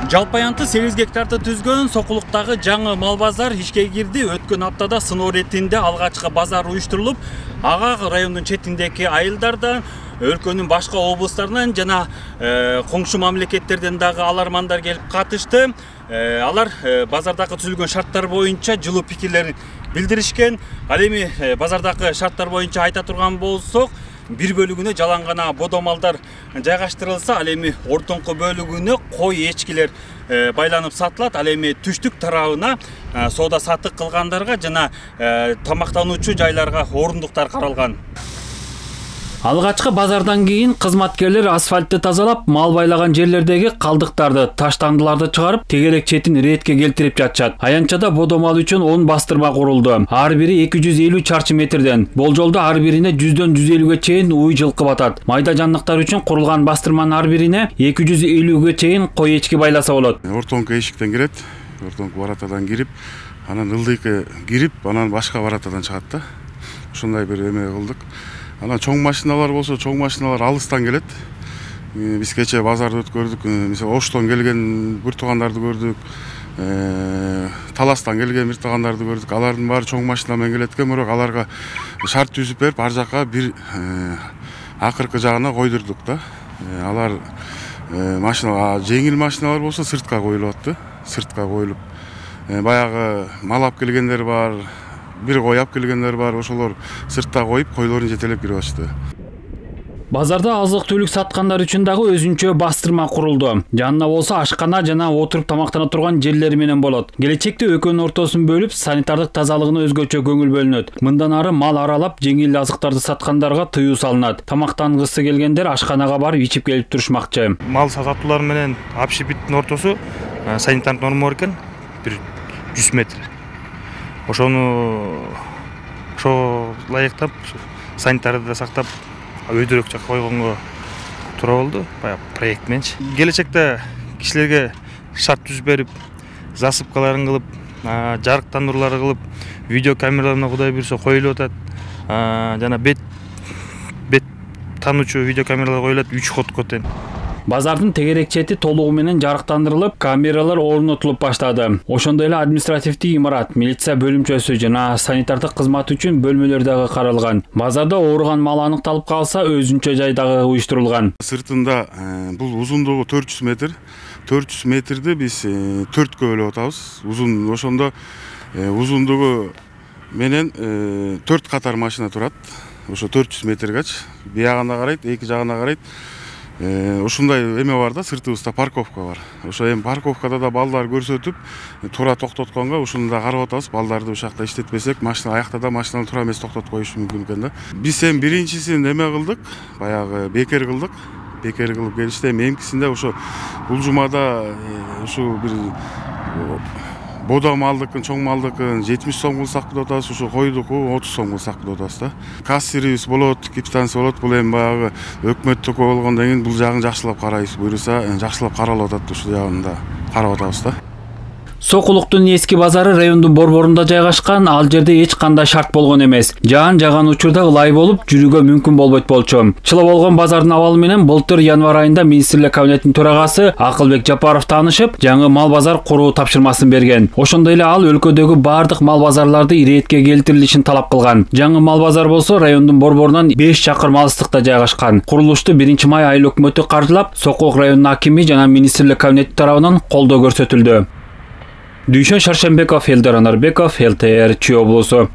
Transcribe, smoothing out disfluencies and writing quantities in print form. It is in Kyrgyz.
Жалпы аянты 8 гектарды түзгөн Сокулуктагы жаңы мал базар ишке кирди. Өткөн аптада сыноо иретинде алгачкы базар уюштурулуп, ага райондун четиндеги айылдардан, өлкөнүн башка облустарынан жана коңшу мамлекеттерден дагы алармандар келип катышты. Алар базардагы түзүлгөн шарттар боюнча жылуу пикирлерин билдиришкен. Ал эми базардагы шарттар боюнча айта турган болсок, бир бөлүгүнө жалаң гана бодо малдар жайгаштырылса, ал эми ортоңку бөлүгүнө кой, эчкилер байланып сатылат. Ал эми түштүк тарабына соода саттык кылгандарга жана тамактануучу жайларга орундуктар каралган. Алгачкы базардан кийин кызматкерлер асфальтты тазалап, мал байлаган жерлердеги калдыктарды, таштандыларды чыгарып, тегерек четин иретке келтирип жатышат. Аянчада бодо мал үчүн 10 бастырма курулду. Ар бири 250 чарчы метрден. Болжолдо ар бирине 100дөн 150ге чейин уй жылкы батат. Майда жанлыктар үчүн курулган бастырманын ар бирине 250ге чейин кой, эчки байласа болот. Ортоңку эшиктен кирет, ортоңку баратадан кирип, анан ылдыйкы кирип, анан башка баратадан чыгат да. Ушундай бир эме кылдык. Анан чоң машиналар болсо, чоң машиналар алыстан келет. Биз кече базарды өткөрдүк. Мисалы Оштон келген бир туугандарды көрдүк. Таластан келген бир туугандарды көрдүк. Алардын баары чоң машина менен келет экен, бирок аларга шарт түзүп берип, ар жака бир акыркы жагына койдурдук да. Алар машина, жеңил машиналар болсо сыртка коюлуп атты. Сыртка коюлуп, баягы мал алып келгендер бар. Бир кой алып келгендер бар, ошолор сыртта коюп, койлорун жетелеп кирип атышты. Базарда азык-түлүк саткандар үчүн дагы өзүнчө бастырма курулду. Жанына болсо ашкана жана отуруп тамактана турган жерлери менен болот. Келечекте экөөнүн ортосун бөлүп, санитардык тазалыгына өзгөчө көңүл бөлүнөт. Мындан ары мал аралап, жеңил азыктарды саткандарга тыюу салынат. Тамактангысы келгендер ашканага барып ичип келип турушмакчы. Мал сатуулар менен общепиттин ортосу санитардык норма бар экен, бир 100 метр. Ошону ылайыктап, санитарды да сактап, өйдөрөк жакка койгонго туура болду, баягы проект мененчи. Келечекте кишилерге шарт түзүп берип, засыпкаларын кылып, жарыктандырууларды кылып, видео камераларына кудай буйрса коюлуп атат. Жана бет таануучу видео камералар коюлат 3 ходко тең. Базардын тегерек чети толугу менен жарыктандырылып, камералар орнотулуп баштады. Ошондой эле административдик имарат, милиция бөлүмчөсү жана санитардык кызмат үчүн бөлмөлөр дагы каралган. Базарда ооруган мал аныкталып калса, өзүнчө жай дагы уюштурулган. Сыртында бул узундугу 400 метр. 400 метрди биз 4кө бөлүп атабыз. Узун, ошондо узундугу менен 4 катар машина турат. Ошо 400 метргач, биягына карайт, эки жагына карайт. Ушундай эме бар да, сыртыбызда парковка бар. Ошо эми парковкада да балдар көрсөтүп, туура токтотконго ушуну да карап атабыз. Балдарды ушакта иштетпесек, машина аякта да машинаны туура эмес токтотуп коюшу мүмкүн экен да. Биз эми биринчисин эме кылдык, баягы бекер кылдык. Бекер кылып келишти. Эмкисинде ошо бул жумада ушу бир бодо малдыкын, чоң малдыкын 70 сом кылсак деп атабыз, ушу койдуку 30 сом кылсак деп атабыз да. Кассирибиз болот, капитансы болот, бул эми баягы өкмөттүкү болгондон кийин бул жагын жакшылап карайбыз. Буйруса, жакшылап каралып атат, ушул жагын да карап атабыз да. Сокулуктун эски базары райондун борборунда жайгашкан, ал жерде эч кандай шарт болгон эмес. Жаан жаган учурда ылай болуп, жүрүүгө мүмкүн болбойт болчу. Чыла болгон базардын абалы менен былтыр январь айында министрлер кабинетинин төрагасы Акылбек Жапаров таанышып, жаңы мал базар куруу тапшырмасын берген. Ошондой эле ал өлкөдөгү бардык мал базарларды иретке келтирилишин талап кылган. Жаңы мал базар болсо райондун борборунан 5 чакырым алыстыкта жайгашкан. Курулушту 1 май айыл өкмөтү каржылап, Сокулук районунун акими жана министрлер кабинети тарабынан колдоо көрсөтүлдү. Дүйшөн Шаршембеков, Элдар Анарбеков, ЛТР Чүй облусу.